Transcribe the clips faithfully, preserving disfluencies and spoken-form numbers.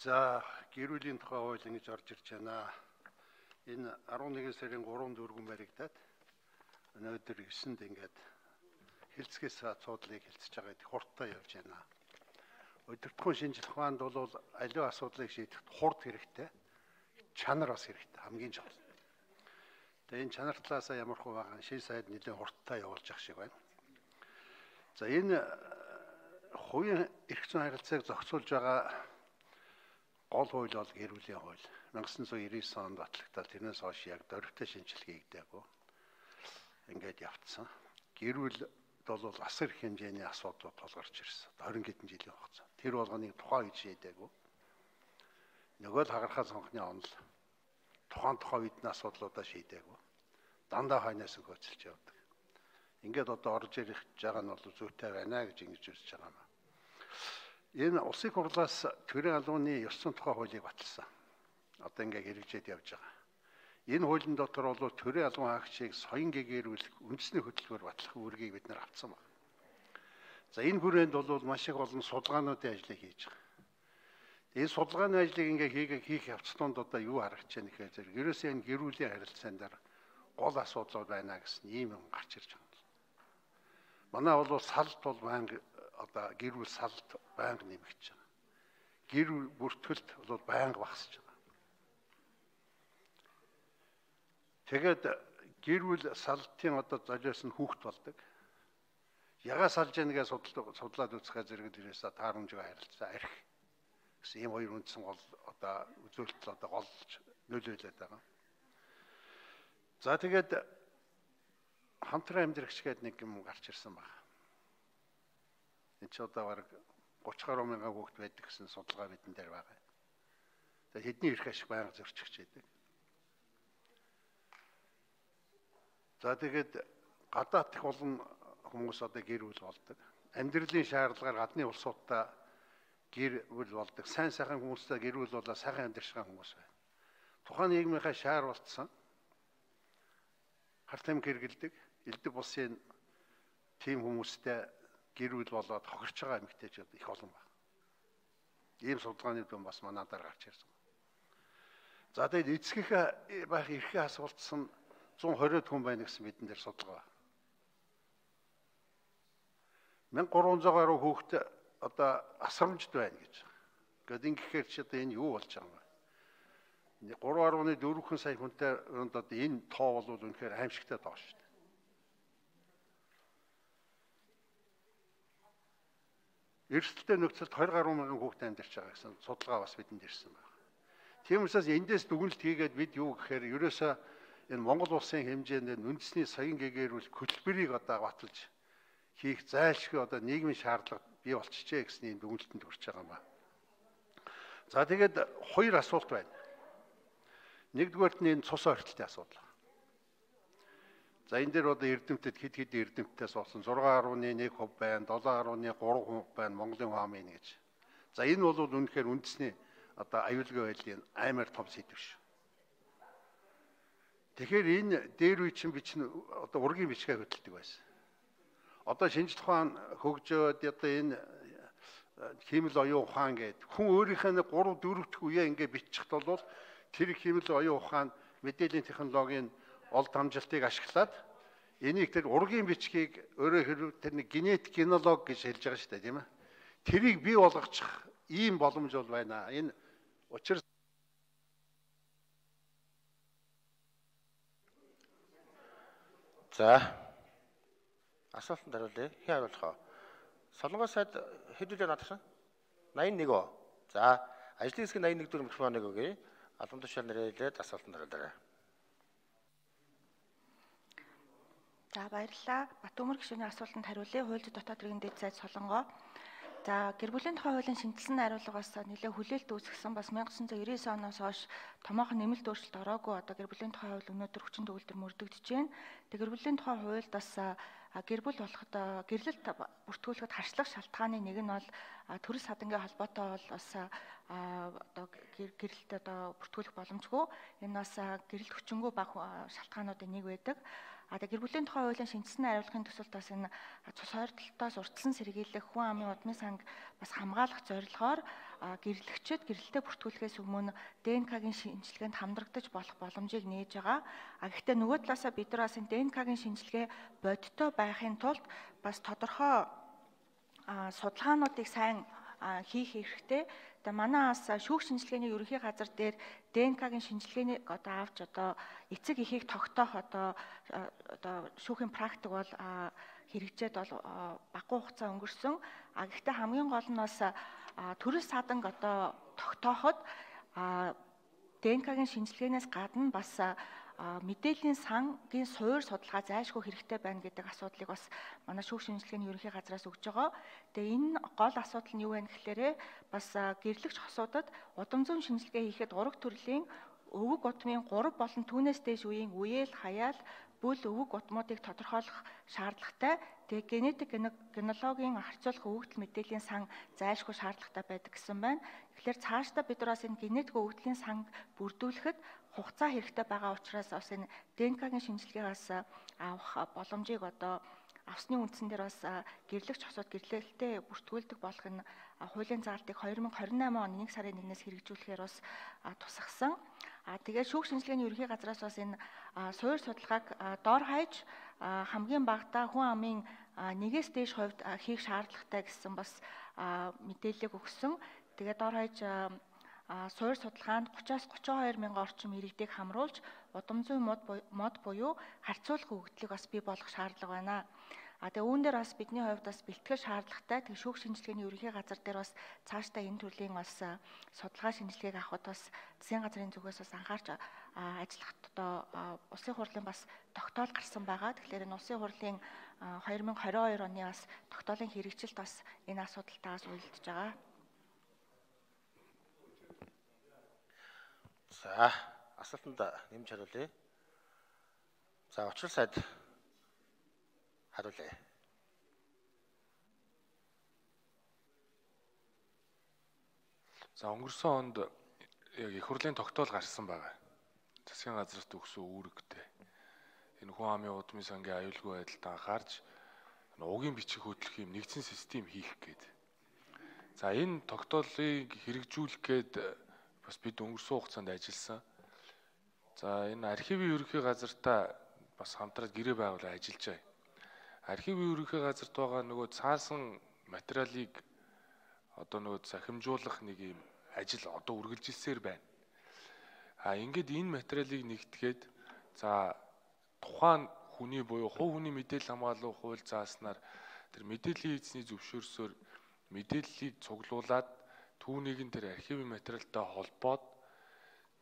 За гэр бүлийн тухай хууль ингэж орж ирж байна. Энэ арван нэгэн сарын гурван дөрвөн баригдаад өнөөдөр эсэнд ингээд хэлцгээс асуудлыг хэлцэж байгаа их хурдтай явж байна. Өдөртгөн шинжлэх ухаанд бол аливаа асуудлыг шийдэхэд хурд хэрэгтэй, чанар бас хэрэгтэй, хамгийн чухал. Тэгээ энэ чанар талаасаа ямар хөө байгаа шин сайд нэлээд хурдтай явуулж явах шиг байна. За энэ хувийн эрх зүйн харилцааг зохицуулж байгаа гол хууль бол гэр бүлийн хууль. 천구၉九онд батлагдаад тэрнээс хойш яг дөрвтэй шинжилгээ хийгдээгүй. Ингээд явцсан. Гэр бүл бол асар их хэмжээний асуудлууд тулгарч ирсэн. двадцать хэдэн жилийн хугацаа. Тэр болгоныг тухайн үед шийдээгүй. Нөгөө л хагархаа сонгохны онол тухайн тухайн үед нь асуудлуудаа шийдээгүй. Дандаа хойноос хөөцөлж явдаг. Ингээд одоо орж ирэх байгаа нь бол зүйтэй байна гэж ингэж үзэж байгаа юм. Энэ улсын хурлаас төрийн албаны ёс зүйн тухай хуулийг баталсан. Одоо ингээ хэрэгжээд явж байгаа. Энэ хуулийн дотор бол төрийн албан хаагчийг соён гэгэрүүлэх үндэсний хөтөлбөр батлах үүргийг бид нэр авсан байна. За энэ хүрээнд бол маш их олон судалгаануудын ажлыг хийж байгаа. Энэ судалгааны ажлыг ингээ хийх хийх явцлуунд одоо юу харагдаж байна гэхээр зэрэг ерөөсөө энэ гэр бүлийн харилцаан дээр гол асуудлууд байна гэсэн ийм юм гарч ирж байгаа. Манай бол салт бол байнга одоо гэр бүл салт байнга нэмэгдэж байгаа. Гэр бүртгэлт бол байнга багасж байгаа. Тэгээд гэр бүл салтын одоо золиос нь хүүхд болдог. Ягаа салж янгээ судлаад үзэхээр зэрэг дээрээс таарамжгүй харилцаа арх гэсэн ийм хоёр үндсэн гол одоо үзүүлэлт одоо голж нөлөөлөд байгаа. За тэгээд хамтран амьдрагч гэдэг нэг юм гарч ирсэн байна. Энд ч одоо бараг гуравч гаруй мянган хүүхэд байдаг гэсэн судалгаа бидэн дээр байгаа. Тэгээд хэдний эрх ашиг байнга зөрчигч байдаг. За тэгээд гадаад их олон хүмүүс одоо гэр бүл болдог. Амьдралын шаардлагаар гадны улсуудаа гэр бүл болдог. Сайн сайхан хүмүүстэй гэр бүл болоо сайхан амьдрах хүмүүс байна. Тухайн нийгмийнхаа шаар болцсон. Харт амь хэргэлдэг, элдв булсын тийм хүмүүстэй гэр бүл болоод хохирч байгаа эмэгтэйчүүд их олон байна. Ийм судалгааны дүн бас манайдаар гарч ирсэн. За тэгээд эцгэх байх эрхээ асуултсан зуун хорвоод хүн байна гэсэн бидэн дээр судалгаа байна. мянга гурван зуун гаруй хүүхэд одоо асрамжд байна гэж. Гэхдээ ингэхээр чи одоо энэ юу болж байгаа юм бэ? гурван гаруй дөрвөн сая хүнтэй одоо энэ тоо бол үнэхээр аимшигтай тоо шүү дээ. Эрсдэлтэй нөхцөлд хоёр гаруй мянган хүүхэд амьдарч байгаа гэсэн судалгаа бас бидэнд ирсэн байна. Тийм учраас эндээс дүгнэлт хийгээд бид юу гэхээр ерөөсөө энэ Монгол улсын хэмжээнд үндэсний соён гэгэрүүл хөтөлбөрийг одоо баталж хийх зайлшгүй одоо нийгмийн шаардлага бий болчихжээ гэсэн ийм дүгнэлтэнд хүрч байгаа юм байна. За тэгээд хоёр асуулт байна. Нэгдүгээрт нь энэ цус ойртолтын асуудал. За энэ дээр одоо эрдэмтэд хэд хэд эрдэмтдээс болсон зургаан гаруй нэг хувь байна, долоон гаруй гурван хувь байна, Монголын хаамын гэж. За энэ бол үнэхээр үндэсний одоо аюулгүй байдлын амар том сэдв шүү. Тэгэхээр энэ дээр үе чинь би чинь одоо ургийн бичгээ хөдөлдөг байсан. Одоо шинжлэх ухаан хөгжөөд одоо энэ химэл оюун ухаан гэдэг хүн өөрийнхөө нэг гурав дөрөв дэх үеэ ингээ бичих бол тэр химэл оюун ухаан мэдээллийн технологийн олд хамжилтыг ашиглаад энийг тэр ургийн бичгийг өөрөө хэрэг тэр нэг генетик генолог гэж хэлж байгаа шүү дээ тийм ээ. Тэрийг бий болгочих ийм боломж бол байна. Энэ учир За асуултанд хариулъя. Хэн хариулах вэ? Солонгос сайд хэд үлээ надагсан? найман нэг оо. За ажлын хэсэг найман нэг дөрөв микрофоныг өгье. Албан тушаал нэрэлээд асуултанд хариулаарай. За баярлалаа. Батөмөр гишүүний асуултанд хариулъя. Хууль зүйн дотоод иргэн дэд сайд Солонгоо. За гэр бүлийн тухай хуулийн шинжилсэн хариулгаас нэлээд хүлээлт үүсгэсэн бас 천구၉九оноос хойш томоохон нэмэлт өөрчлөлт ороогүй одоо гэр бүлийн тухай хууль өнөөдөр хүчин төгөлдөр мөрдөгдөж байна. Тэгээ гэр бүлийн тухай хуульд бас гэр бүл болоход гэрлэлт бүртгүүлэхэд харьцлах шалтгааны нэг нь бол төрөл садангийн холбоотой бол бас одоо гэрэлт одоо бүртгүүлэх боломжгүй. Энэ бас гэрэлт хүчингү бага шалтгаануудын нэг байдаг. А тэгээ гэр бүлийн тухай хуулийн шинжилсэн хариулгын төсөлд бас энэ цус ойртолтоос урьдчилан сэргийлэх хүн амын удмын санг бас хамгаалах зорилгоор гэрлэгчид гэрэлтэй бүртгүүлэхээс өмнө Дэ Эн Ка-гийн шинжилгээнд хамрагдаж болох боломжийг нээж байгаа. А гэхдээ нөгөө талаасаа бид нар бас энэ Дэ Эн Ка-гийн шинжилгээ бодиттой байхын тулд бас тодорхой судалгаануудыг сайн хийх хэрэгтэй. Тэгээ манай бас шүүх шинжилгээний ерөнхий газар дээр Дэ Эн Ка-гийн шинжилгээнийг одоо авч одоо эцэг эхийг тогтоох одоо одоо шүүхийн практик бол хэрэгжээд бол багагүй хугацаа өнгөрсөн. А гэхдээ хамгийн гол нь бас төрөл саданг одоо тогтооход Дэ Эн Ка-гийн шинжилгээнээс гадна бас мэдээллийн сангийн суур судалгаа зайлшгүй хэрэгтэй байна гэдэг асуудлыг бас манай шүүх шинжилгээний ерөнхий газраас өгж байгаа. Тэгээ энэ гол асуудал нь юу вэ гэхээр бас гэрлэгч хосуудад удам зүүн шинжилгээ хийхэд ураг төрлийн өвөг удмын гурав болон түүнээс дээш үеийн үеэл, хаяал, бүл өвөг удмуудыг тодорхойлох шаардлагатай. Тэгээ генетик генологийн харьцуулах өвөгдөл мэдээллийн сан зайлшгүй шаардлагатай байдаг гэсэн байна. Тэгэхээр цаашдаа бид нар бас энэ генетик өвөгдлийн санг бүрдүүлэхэд хугацаа хэрэгтэй байгаа учраас бас энэ Дэ Эн Ка-гийн шинжилгээгээс авах боломжийг одоо авсны үндсэн дээр бас гэрлэгч хосууд гэрлэлтэд бүртгүүлдэг болох энэ хуулийн заалтыг хоёр мың хорин наймын оны нэг сарын нэгнээс хэрэгжүүлэхээр бас тусгасан. А тэгээд шүүх шинжилгээний ерөнхий газраас бас энэ суур судалгааг дор хаяж хамгийн багадаа хүн амын нэгээс дээш хувьд хийх шаардлагатай гэсэн бас мэдээлэл өгсөн. Тэгээд дор хаяж суур судалгаанд гураваас гурван хоёр мянган орчим иргэдийг хамруулж удам зүйн мод буюу харьцуулах өгөгдлийг бас бий болгох шаардлага байна. А тэгээ үүн дээр бас бидний хувьд бас бэлтгэл шаардлагатай. Тэгээ шүүх шинжилгээний ерөнхий газар дээр бас цаашдаа энэ төрлийн бас судалгаа шинжилгээг авахд бас засгийн газрын зүгээс бас анхаарч ажиллахад одоо улсын хурлын бас тогтоол гарсан байгаа. Тэгэхээр энэ улсын хурлын хоёр мың хорин хоёр оны бас тогтоолын хэрэгжилт бас энэ асуудалтаас уялдж байгаа. За, асуултанд нэмж хариулъя. За, учрал сайд хариулъя. За, өнгөрсөн онд яг их хурлын тогтоол гарсан байгаа. Засгийн газарт өгсөн үүрэгтэй. Энэ хүн амын удмын сангийн аюулгүй байдалд анхаарч угийн бичих хөтлөх юм нэгдсэн систем хийх гээд. За, энэ тогтоолыг хэрэгжүүлэх гээд бас бид өнгөрсөн хугацаанд ажилласан. За, энэ архивын ерөнхий газартаа бас хамтраад гэрээ байгуулаад ажиллаж байгаа. Архивын ерөнхий газарт байгаа нөгөө цаасан материалыг одоо нөгөө захимжуулах нэг юм ажил одоо үргэлжилсээр байна. А ингээд энэ материалыг нэгтгэхэд за тухайн хүний буюу хувь хүний мэдээлэл хамгаалах хууль зааснаар тэр мэдээллийн эзний зөвшөөрсөөр мэдээллийг цуглуулад түүнийг нь тэр архивын материалтай холбоод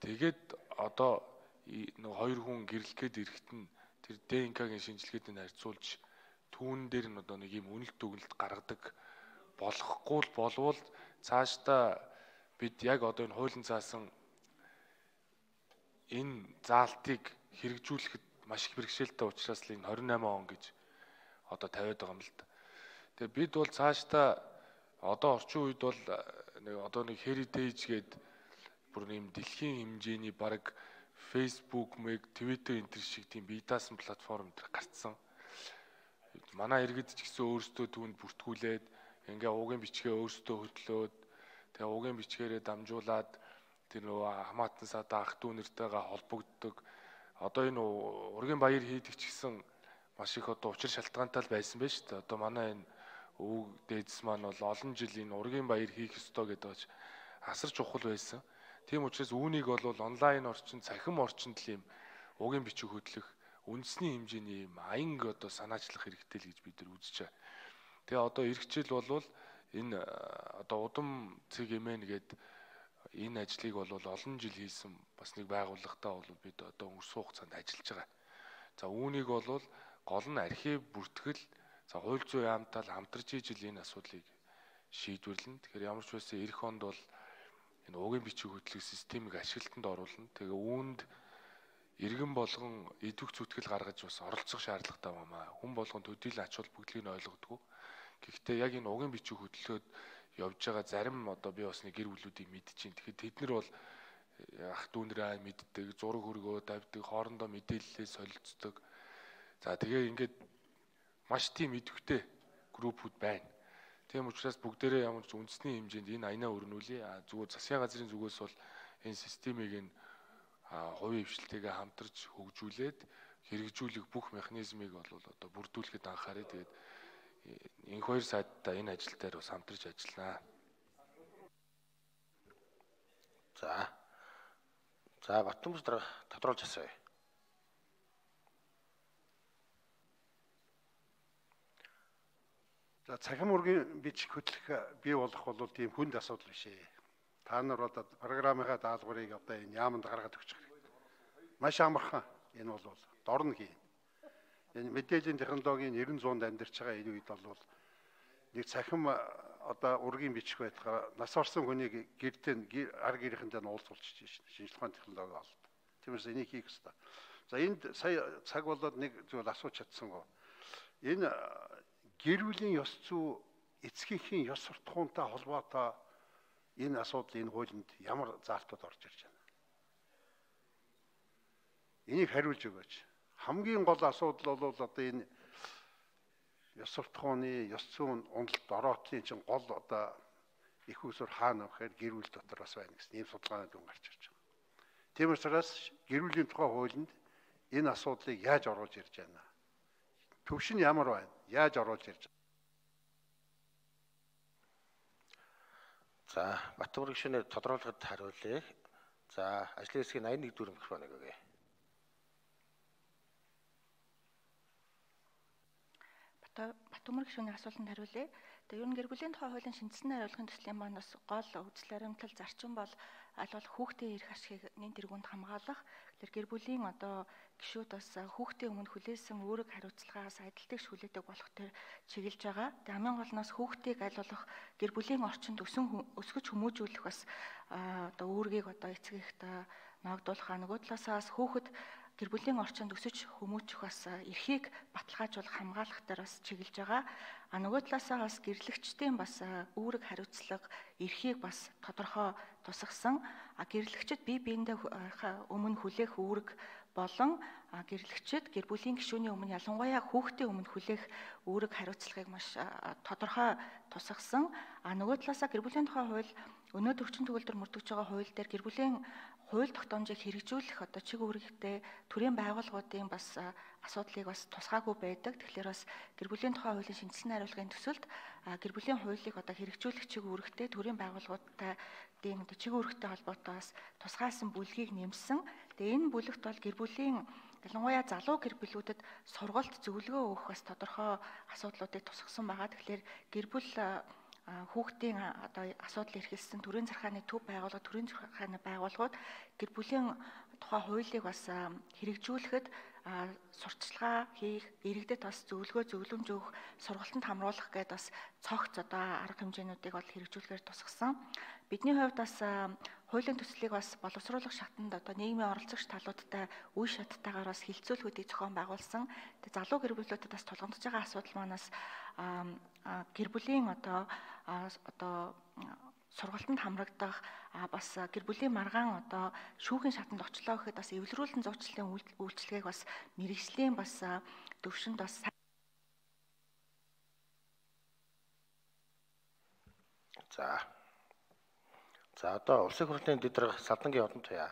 тэгээд одоо нэг хоёр хүн гэрлэхэд ирэхэд нь тэр Дэ Эн Ка-гийн шинжилгээтэй харьцуулж түүн дээр нь одоо нэг юм үнэлт дүгнэлт гаргадаг болохгүй л болвол цаашдаа бид яг одоо энэ хуулийн заасан энэ заалтыг хэрэгжүүлэхэд маш их бэрхшээлтэй учраас л энэ хорин найман он гэж одоо тавиад байгаа юм л да. Тэгээ бид бол цаашдаа одоо орчин үед бол нэг одоо нэг heritage гээд бүр нэм дэлхийн хэмжээний баг Facebook, Twitter энэ төр шиг тийм бие даасан платформ төр гарцсан. Манай иргэд ч гэсэн өөрсдөө түүнд бүртгүүлээд ингээ уугийн бичгээ өөрсдөө хөтлөөд тэгээ уугийн бичгээрээ дамжуулаад тэр нөгөө хамаатан садаа ах дүү нэртэйгээ холбогддог. Одоо энэ ургийн баяр хийдэг ч гэсэн маш их одоо учир шалтгаантай л байсан байж шүү дээ. Одоо манай энэ өвөг дээдс маань бол олон жил энэ ургийн баяр хийх ёстой гэдэг нь асар чухал байсан. Тийм учраас үүнийг бол онлайн орчин, цахим орчинд л юм уугийн бичиг хөтлөх үндэсний хэмжээний юм аянг одоо санаачлах хэрэгтэй л гэж бид нар үзэж байгаа. Тэгээ одоо эх хичээл болвол энэ одоо удам цэг эмэн гээд энэ ажлыг бол олон жил хийсэн бас нэг байгууллагатай бол бид одоо өнгөрсөн хугацаанд ажиллаж байгаа. За үүнийг бол гол нь архив бүртгэл, за хууль зүйн яамтай хамтарч ижил энэ асуудлыг шийдвэрлэнэ. Тэгэхээр ямар ч байсан эх онд бол энэ уугийн бичиг хөтлөх системийг ашиглалтанд оруулна. Тэгээ үүнд иргэн болгон идэвх зүтгэл гаргаж бас оролцох шаардлагатай байна. Хүн болгон төдийлөн ач холбогдлыг ойлгодгоо. Гэхдээ яг энэ уугийн бичиг хөтлөхөд явж байгаа зарим одоо би бас нэг гэр бүлүүдийг мэдчихээн. Тэгэхээр тэд нар бол ах дүүнрээ мэддэг, зураг хөргөө тавьдаг, хоорондоо мэдээлэлээ солилцдог. За тэгээ ингээд маш тийм идэвхтэй группүүд байна. Тийм учраас бүгдээрээ ямар ч үндэсний хэмжээнд энэ аянаа өрнүүлээ. А зүгээр засгийн газрын зүгээс бол энэ системийг нь хувийн хвшилтэйгээ хамтарч хөгжүүлээд хэрэгжүүлэх бүх механизмыг бол одоо бүрдүүлэхэд анхаарай. Тэгээд энэ хоёр сайдтай энэ ажил дээр бас хамтарч ажиллана. За. За Батбомор дараа тодруулж асууя. За цахим үргийн бичиг хөтлөх бий болох бол тийм хүнд асуудал биш ээ. Та нар одоо программынхаа даалгаврыг одоо энэ яамд гаргаад өгчих хэрэгтэй. Маш амархан энэ бол дорн хийн. Энэ мэдээллийн технологийн нэрэн зуунд амьдарч байгаа энэ үед бол нэг цахим одоо ургийн бичих байтугай нас орсон хүнийг гэртээ ар гэрийнхэндээ нь уулзуулчих шинжилгээ ухааны технологи олд. Тиймээс энийг хийх хэрэгтэй. За энд сая цаг болоод нэг зүйл асууж чадсангүй. Энэ гэр бүлийн ёс зүй эцгийнхээ ёс суртахуунтай холбоотой энэ асуудал энэ хуулинд ямар заалтууд орж ирж байна? Энийг хариулж өгөөч. Хамгийн гол асуудал бол одоо энэ ёс суртахууны ёс зүйн уналт ороотлын чинь гол одоо их усүр хаана вэхээр гэр бүл дотор бас байна гэсэн ийм судалгаанууд өн гарч ирж байгаа. Тийм учраас гэр бүлийн тухай хуулинд энэ асуудлыг яаж оруулж ирж байна? Төвшин ямар байна? Яаж оруулж ирж байна? За Батбомор гишүүнээ тодруулахад хариулъя. За ажлын хэсгийн аян нэг дөрөв микрофоныг өгье. Батбомор гишүүний асуултанд хариулъя. Тэгээ ер нь гэр бүлийн тухай хуулийн шинжилсэн хариулгын төслийн маань бас гол үзэл баримтлал зарчим бол аль болох хүүхдийн эрх ашигыг нэн тэргуунд хамгаалах. Тэгэхээр гэр бүлийн одоо гишүүд бас хүүхдийн өмнө хүлээсэн үүрэг хариуцлагаас адилтгийгч хүлээдэг болох төр чиглэж байгаа. Тэгээ хамгийн гол нь бас хүүхдийг аль болох гэр бүлийн орчинд өсөн өсгөж хүмүүжүүлэх бас одоо үүргийг одоо эцгийгт ногдуулах. Нөгөө талаасаа бас хүүхэд гэр бүлийн орчинд өсөж хүмүүжих бас эрхийг баталгаажуулах хамгаалах дээр бас чиглэж байгаа. А нөгөө талаасаа бас гэрлэгчдийн бас үүрэг хариуцлага эрхийг бас тодорхой тусгасан. А гэрлэгчд бие биендээ өмнө хүлээх үүрэг болон гэрлэгчд гэр бүлийн гишүүний өмнө ялангуяа хүүхдийн өмнө хүлээх үүрэг хариуцлагыг маш тодорхой тусгасан. А нөгөө талаасаа гэр бүлийн тухай хууль өнөөдөр хүчин төгөлдөр мөрдөж байгаа хууль дээр гэр бүлийн хууль тогтоомжийг хэрэгжүүлэх одоо чиг үүрэгтэй төрийн байгууллагуудын бас асуудлыг бас тусгаагүй байдаг. Тэгэхээр бас гэр бүлийн тухай хуулийн шинжилсэн хариулгын төсөлд гэр бүлийн хуулийг одоо хэрэгжүүлэх чиг үүрэгтэй төрийн байгууллагуудтай дэм одоо чиг үүрэгтэй холбоотой бас тусгаасан бүлгийг нэмсэн. Тэгээ энэ бүлэгт бол гэр бүлийн ялангуяа залуу гэр бүлүүдэд сургалт зөвлөгөө өгөх бас тодорхой асуудлуудыг тусгасан байгаа. Тэгэхээр гэр бүл хүүхдийн одоо асуудал эрхэлсэн төрийн захиргааны төв байгууллага, төрийн захиргааны байгууллагууд гэр бүлийн тухай хуулийг бас хэрэгжүүлэхэд сурталчилгаа хийх, иргэдэд бас зөвлөгөө зөвлөмж өгөх, сургалтанд хамруулах гэдээ бас цогц одоо арга хэмжээнүүдийг бол хэрэгжүүлэхээр тусгасан. Бидний хувьд бас хуулийн төслийг бас боловсруулах шатанд одоо нийгмийн оролцогч талуудтай үе шаттайгаар бас хилцүүлгүүдийг зохион байгуулсан. Тэгээ залуу гэр бүлүүдэд бас тулгамдж байгаа асуудал манаас гэр бүлийн одоо одоо сургалтанд хамрагдах бас гэр бүлийн маргаан одоо шүүхийн шатанд очлоо гэхэд бас эвлэрүүлэн зуучлалын үйлчлэгийг бас мэрэгжлийн бас төвшөнд бас за за одоо улсын хурлын дэд дарга Салдангийн Одон туяа